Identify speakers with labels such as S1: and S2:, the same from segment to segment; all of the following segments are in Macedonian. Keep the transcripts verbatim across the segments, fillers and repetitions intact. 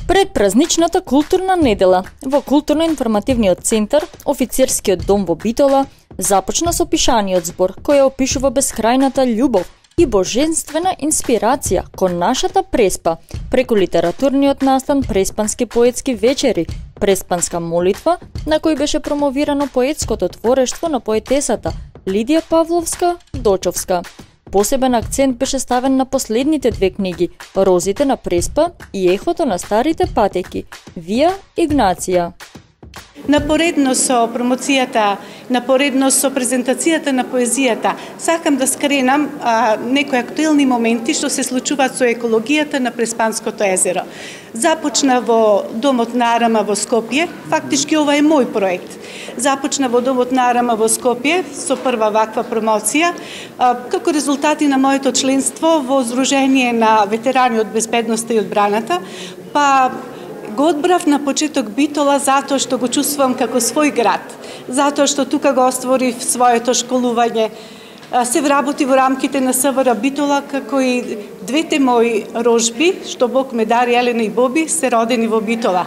S1: Пред празничната културна недела, во културно-информативниот центар, офицерскиот дом во Битола, започна со пишаниот збор кој опишува бескрајната љубов и божествена инспирација кон нашата Преспа, преку литературниот настан Преспански поетски вечери, Преспанска молитва, на кој беше промовирано поетското творештво на поетесата Лидија Павловска-Дочовска. Посебен акцент беше ставен на последните две книги, Розите на Преспа и Ехото на старите патеки, Вија Игнација.
S2: Напоредно со промоцијата, напоредно со презентацијата на поезијата, сакам да скренам а, некои актуелни моменти што се случуваат со екологијата на Преспанското езеро. Започна во Домот на Арама во Скопје, фактички ова е мој проект. Започна во Домот на Арама во Скопје со прва ваква промоција, а, како резултати на моето членство во Здружение на ветерани од безбедноста и одбраната, па го одбрав на почеток Битола затоа што го чувствувам како свој град, затоа што тука го остворив своето школување, се вработи во рамките на СВР Битола, како и двете мои рожби, што Бог ме дари, Елена и Боби, се родени во Битола.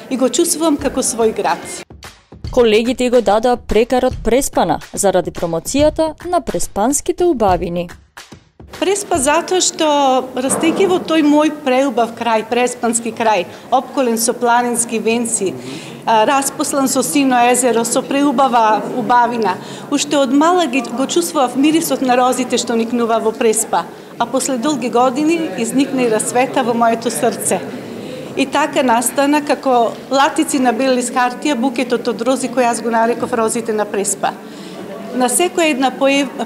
S2: И го чувствувам како свој град.
S1: Колегите го дадоа прекарот Преспана заради промоцијата на преспанските убавини.
S2: Преспа затоа што, растејќи во тој мој преубав крај, преспански крај, опколен со планински венци, распослан со сино езеро, со преубава убавина, уште од мала го чувствував мирисот на розите што никнува во Преспа, а после долги години изникна и расвета во моето срце. И така настана како латици на бел лист хартија букетот од рози кој јас го нареков Розите на Преспа. На секоја една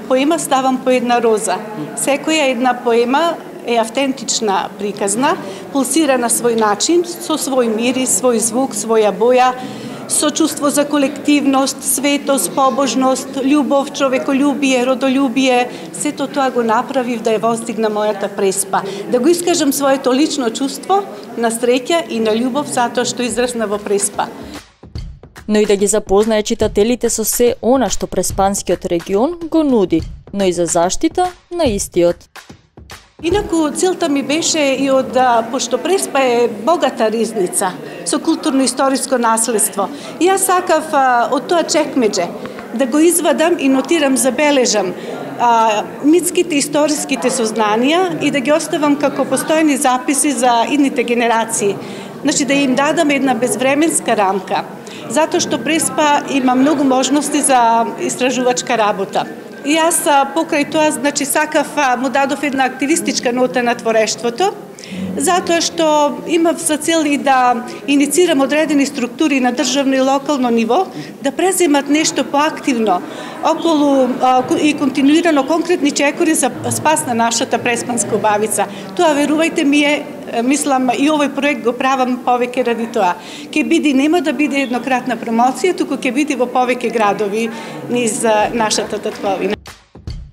S2: поема ставам по една роза. Секоја една поема е автентична, приказна, пулсира на свој начин, со свој мирис, свој звук, своја боја, со чувство за колективност, светост, побожност, љубов, човеколюбие, родолюбие. Сето тоа го направив да ја воздигна мојата Преспа. Да го искажам своето лично чувство на среќа и на љубов затоа што израсна во Преспа.
S1: Но и да ги запознае читателите со се она што Преспанскиот регион го нуди, но и за заштита на истиот.
S2: Инаку, целта ми беше и од, пошто Преспа е богата ризница, со културно-историско наследство. И јас сакав а, од тоа чекмедже да го извадам и нотирам, забележам а, митските историските сознанија и да ги оставам како постојни записи за идните генерации. Значи да им дадам една безвременска рамка, затоа што Преспа има многу можности за истражувачка работа. И јас покрај тоа, значи, сакав, му дадов една активистичка нота на творештвото, затоа што имав за цел и да иницирам одредени структури на државно и локално ниво, да преземат нешто поактивно околу и континуирано конкретни чекори за спас на нашата преспанска убавица. Тоа, верувајте ми е, мислам, и овој проект го правам повеќе ради тоа. Ке биде, нема да биде еднократна промоција, туку ќе биде во повеќе градови низ нашата татковина.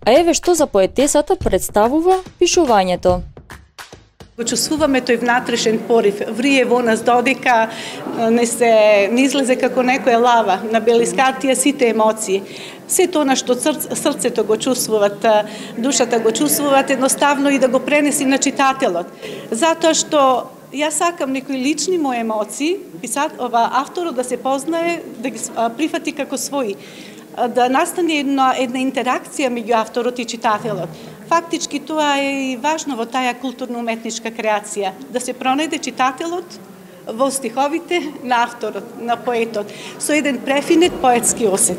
S1: А еве што за поетесата представува пишувањето.
S2: Го чувствуваме тој внатрешен порив, врие во нас додека не се не излезе како некоја лава на белискартија сите емоции. Сето она што срцето го чувствуват, душата го чувствуват, едноставно и да го пренеси на читателот. Затоа што јас сакам некои лични мои емоции, писат ова авторот да се познае, да ги прифати како своји, да настане една една интеракција меѓу авторот и читателот. Фактички тоа е и важно во таа културно-уметничка креација, да се пронајде читателот во стиховите на авторот, на поетот, со еден префинет поетски осет.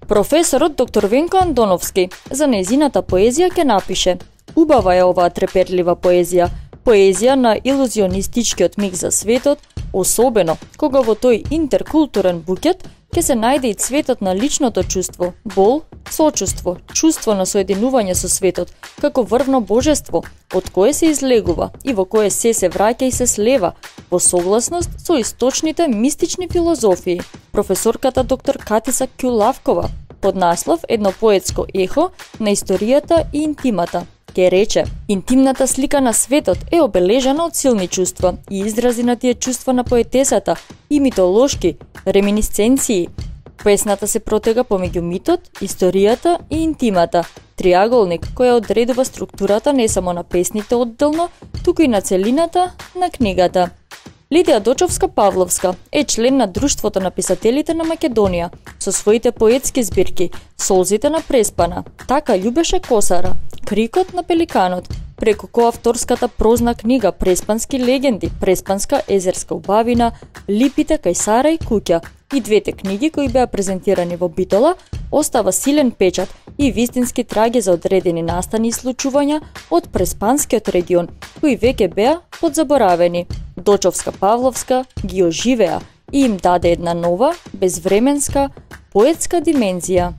S1: Професорот доктор Венко Андоновски за нејзината поезија ќе напише: убава е оваа треперлива поезија, поезија на илузионистичкиот миг за светот, особено кога во тој интеркултурен букет ќе се најде и цветот на личното чувство, бол, сочувство, чувство на соединување со светот, како врвно божество, од кое се излегува и во кое се се враќа и се слева, во согласност со источните мистични филозофии. Професорката доктор Катиса Кјулавкова, под наслов Едно поетско ехо на историјата и интимата, ке рече: интимната слика на светот е обележана од силни чувства и изрази на тие чувства на поетесата и митолошки реминисценции. Песната се протега помеѓу митот, историјата и интимата, триаголник која одредува структурата не само на песните одделно, туку и на целината на книгата. Лидија Дочовска-Павловска е член на Друштвото на писателите на Македонија со своите поетски збирки Солзите на Преспана, Така љубеше косара, Крикот на пеликанот, преку коавторската прозна книга Преспански легенди, Преспанска езерска убавина, Липите кај Сара и куќа и двете книги кои беа презентирани во Битола, остава силен печат и вистински траги за одредени настани и случувања од Преспанскиот регион, кои веќе беа подзаборавени. Дочовска-Павловска ги оживеа и им даде една нова, безвременска, поетска димензија.